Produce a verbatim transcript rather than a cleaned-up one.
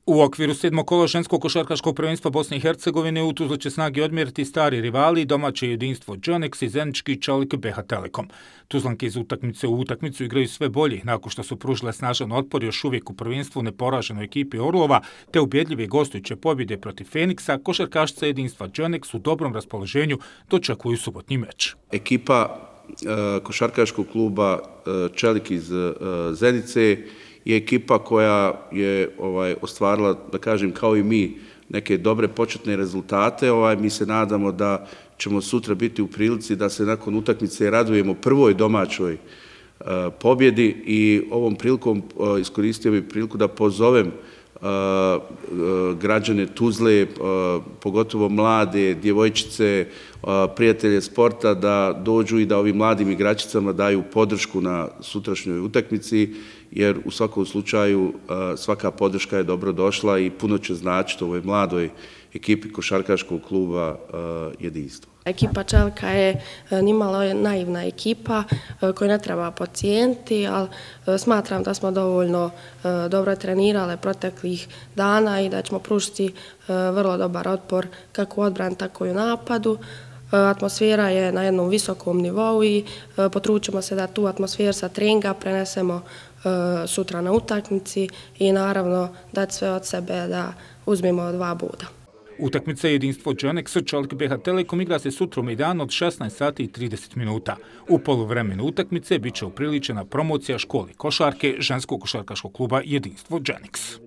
U okviru sedmog kola ženskog košarkaškog prvenstva Bosne i Hercegovine u Tuzli će snage odmjeriti stari rivali, domaće jedinstvo Džonex i zenički čelik B H Telekom. Tuzlanke iz utakmice u utakmicu igraju sve bolje, nakon što su pružile snažan otpor još uvijek u prvenstvu neporaženoj ekipi Orlova, te ubjedljive gostujuće pobjede protiv Feniksa, košarkašice jedinstva Džonex u dobrom raspoloženju dočekuju subotnji meč. Ekipa e, košarkaškog kluba e, Čelik iz e, Zenice je ekipa koja je ovaj, ostvarila, da kažem, kao i mi, neke dobre početne rezultate. Ovaj, mi se nadamo da ćemo sutra biti u prilici da se nakon utakmice radujemo prvoj domaćoj uh, pobjedi i ovom prilikom uh, iskoristio bih priliku da pozovem uh, uh, građane Tuzle, uh, pogotovo mlade, djevojčice, uh, prijatelje sporta da dođu i da ovim mladim igračicama daju podršku na sutrašnjoj utakmici, jer u svakom slučaju svaka podrška je dobro došla i puno će značiti ovoj mladoj ekipi košarkaškog kluba jedinstvo. Ekipa Čelika je nimalo naivna ekipa koju ne treba podcijeniti, ali smatram da smo dovoljno dobro trenirale proteklih dana i da ćemo pružiti vrlo dobar otpor kako u odbrani, tako i u napadu. Atmosfera je na jednom visokom nivou i potručimo se da tu atmosferu sa treninga prenesemo sutra na utakmici i naravno dati sve od sebe da uzmemo dva boda. Utakmica jedinstvo Džonex Čelik B H Telekom igra se sutra u Mejdanu od šesnaest sati i trideset minuta. U poluvremenu utakmice bit će upriličena promocija školi košarke ženskog košarkaškog kluba jedinstvo Džonex.